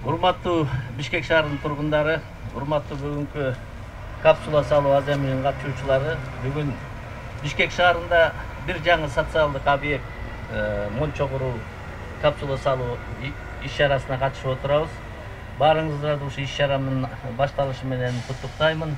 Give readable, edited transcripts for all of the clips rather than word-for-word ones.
Урматтуу Бишкек шаарынын тургундары, урматтуу бүгүнкү капсула салуу аземинин катышуучулары, бүгүн Бишкек шаарында бир жаңы социалдык объект мончо куруу капсула салуу иш-чарасына катышып отурабыз. Баарыңыздарды ушул иш-чаранын башталышы менен куттуктаймын.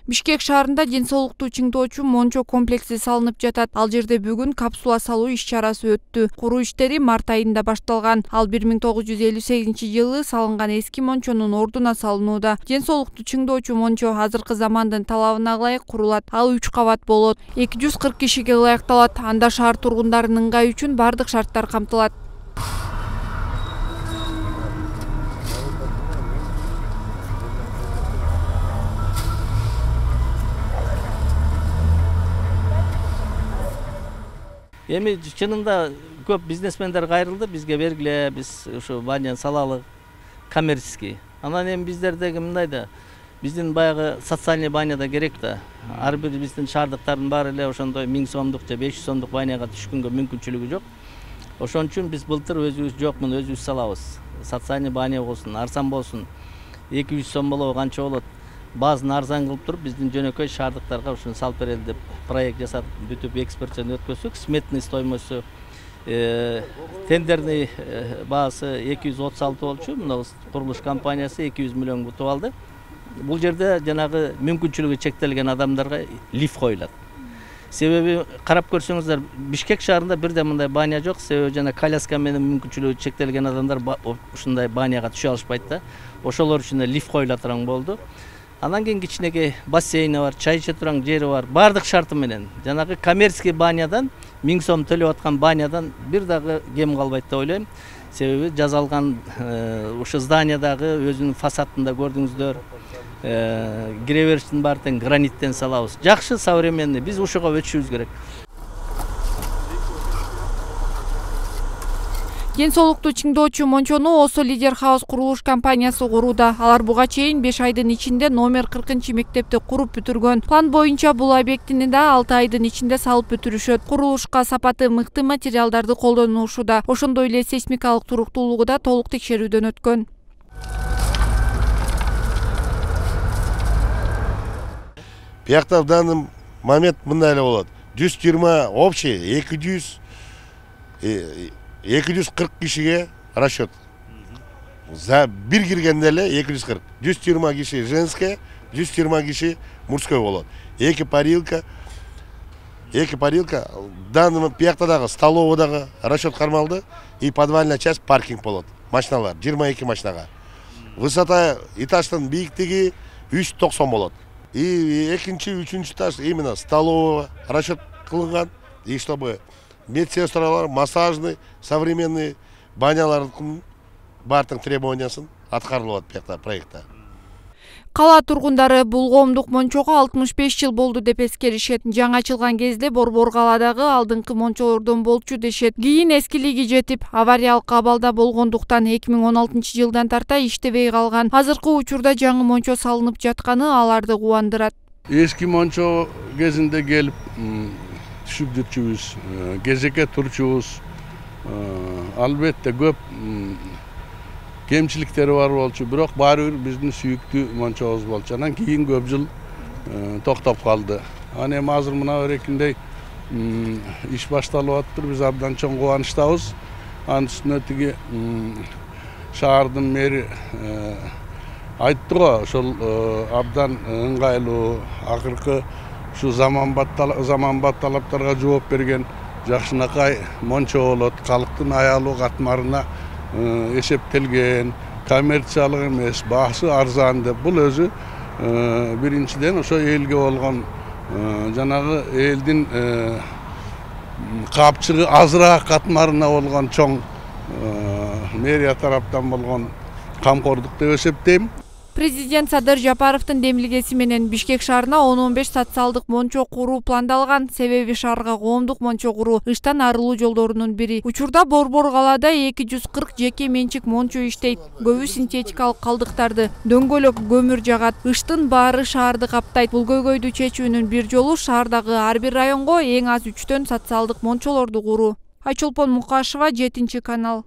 Бишкек шаарында ден соолукту чыңдоочу мончо комплекси салынып жатат. Ал жерде бүгүн капсула салуу иш-чарасы өттү. Куруу иштери март айында башталган. Ал 1958-жылы салынган эски мончонун ордуна салынууда. Ден соолукту чыңдоочу мончо азыркы замандын талабына ылайык курулат. Ал 3 кабат болот. 240 кишиге ылайыкталат. Анда шаар тургундарынын ыңгайы үчүн бардык шарттар камтылат. Эми чынында көп бизнесмендер кайрылды, бизге бергиле, биз ушу баня салалы коммерческий. Анан эми биздердеги мындай да, биздин баягы социальный баня да керек да. Ар бир биздин шаардыктардын баары эле ошондой 1000 сомдук же 500 сомдук баняга түшкөнгө мүмкүнчүлүгү жок. Ошон үчүн биз былтыр өзүбүз жокмун, өзүбүз салабыз. Социальный баня болсун, арзан болсун. 200 сом болобу канча болот? Баазын арзан кылып туруп, биздин жөнөкөй шаардыктарга ушуну салып берели деп проект жасап, бүтүп экспертчен өткөзсөк, сметный стоимосту тендерный баасы 236 болчу. Мына курулуш компаниясы 200 миллион утуп алды. Бул жерде жанагы мүмкүнчүлүгү чектелген адамдарга лифт коюлат. Себеби карап көрсөңүздөр, Бишкек шаарында бирден мындай баня жок. Себеби жана коляска менен мүмкүнчүлүгү чектелген адамдар ушундай баняга түшө алышпайт да. Ошолор үчүн лифт коюла турган болду. Анан кийин кичинекей бассейни бар, чай иче турган жери бар. Бардык шарты менен жанагы коммерческий банядан 1000 сом төлөп аткан банядан бир дагы кем калбайт деп ойлойм. Себеби жазалган ушу зданиядагы өзүнүн фасадында көрдүңүздөр, кире бериштин баары тең граниттен салабыз. Жакшы, современный. Биз ушуга өтүшүбүз керек. Ден соолукту чыңдоочу мончону Осо Лидер Хаус курулуш компаниясы курууда. Алар буга чейин 5 айдын ичинде номер 40-мектепти куруп бүтүргөн. План боюнча бул объектини да 6 айдын ичинде салып бүтүрүшөт. Курулушка сапаты мыкты материалдарды колдонушууда. Ошондой эле сейсмикалык туруктуулугу да толук текшерүүдөн өткөн. Биякта в данный момент мындай эле болот. 120 общий 240 кишиге расчет. За бир киргенде эле 240. 120 киши женское, 120 киши мужской болот. Эки парилка. Данный биякта столоводагы расчет кармалды и подвальная часть паркинг болот. Машиналар 22 машинага. Высота этаждын бийиктиги 390 болот. И экинчи, үчүнчү этаж именно столового расчет кылынган, и чтобы медсестралар, массажный, современный банялардын бардык требованиясын аткарылып атат проектта. Кала тургундары бул коомдук мончого 65 жыл болду деп эскеришет. Жаңы ачылган кезде Борбор каладагы алдыңкы мончолордон болчу дешет. Кийин эскилиги жетип, авариялык абалда болгондуктан 2016-жылдан тарта иштебей калган. Азыркы учурда жаңы мончо салынып жатканы аларды кубандырат. Эски мончо кезинде келип түшүп жүрчүбүз, кезекке турчубуз. Албетте көп кемчиликтери бар болчу, бирок баары бир биздин сүйүктүү мончобуз болчу. Анан кийин көп жыл токтоп калды. Аны эми азыр мына берекиндей иш башталып атыптыр. Биз абдан чоң кубанычтабыз. Анын үстүнө тиги шаардын мэри айтты го, ошол абдан ыңгайлуу, акыркы ушу заманбап талаптарга жооп берген жакшынакай мончо болот. Калктын аялуу катмарына эсептелген, коммерциялык эмес, баасы арзан деп. Бул өзү биринчиден ошо элге болгон жанагы элдин капчыгы азыраак катмарына болгон чоң мэрия тараптан болгон камкордук деп эсептейм. Президент Садыр Жапаровдун демилгеси менен Бишкек шаарына 10-15 социалдык мончо куруу пландалган. Себеби шаарга коомдук мончо куруу ыштан арылуу жолдорунун бири. Учурда Борбор калаада 240 жеке менчик мончо иштейт. Көбү синтетикалык калдыктарды, дөңгөлөк көмүр жагат. Ыштын баары шаарды каптайт. Бул көйгөйдү чечүүнүн бир жолу шаардагы ар бир районго эң аз 3төн социалдык мончолорду куруу. Айчолпон Мукашева, 7 канал.